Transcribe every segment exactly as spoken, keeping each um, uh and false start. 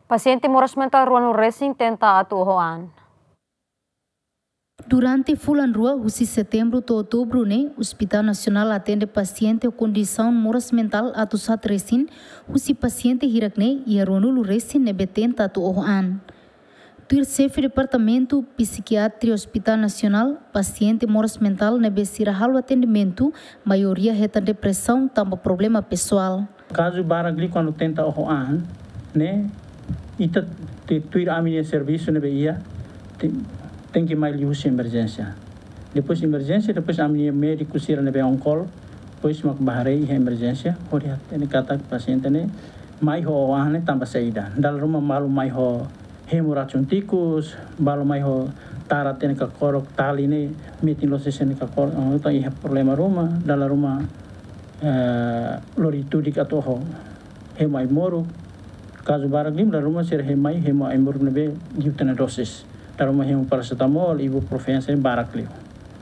Pasiente moras mentál ruanulu resin tenta atu oho an. Durante fulan rua, husi setembru to'o outubru ne'e, Hospital Nasionál atende pasiente ho kondisaun moras mentál atus haat resin, husi pasiente hirak ne'e iha ruanulu resin ne'ebé tenta atu oho an. Tuir xefe Departamentu Psikiatria Hospital Nasionál, pasiente moras mentál ne'ebé sira halo atendimentu, maioria hetan depresaun tanba problema pesoál. Kazu barak liu kuandu tenta oho an, ne'e, ita te tuir ami-nia servisu ne'ebé iha, te-, tenke mai liuhusi emerjénsia. Depois emerjénsia, depois ami-nia médiku sira ne'ebé on call, depois mak bá haree iha emerjénsia, hodi hatene katak pasiente ne'e mai ho oho an ne'e tanba saida. Dala ruma balu mai ho hemu racun tikus, balu mai ho tara tiha nia kakorok, tali ne'e metin loos sira-nia kakorok, ah, entaun iha problema ruma, dala ruma, eh, lori tudik atu oho hemu ai-moruk. Kazu barak liu, dala ruma sira hemu mai, hemu ai-moruk ne'ebé liu tiha ona dosis. Dala ruma hemu parasetamol, ibuprofeno, sira barak liu.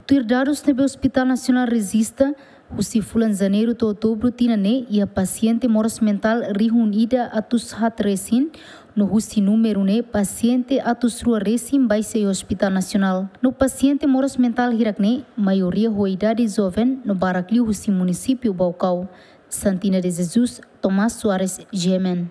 Tuir dadus ne'ebé Hospital Nasionál rejista, husi fulan janeiru to'o outubru tinan ne'e, iha pasiente moras mentál rihun ida atus haat resin, no husi númeru ne'e pasiente atus rua resin baixa iha Hospital Nasionál. No pasiente moras mentál hirak ne'e, maioria ho idade joven, no barak liu husi munisípiu Baucau. Santina de Jesus, Tomás Soares, G M N.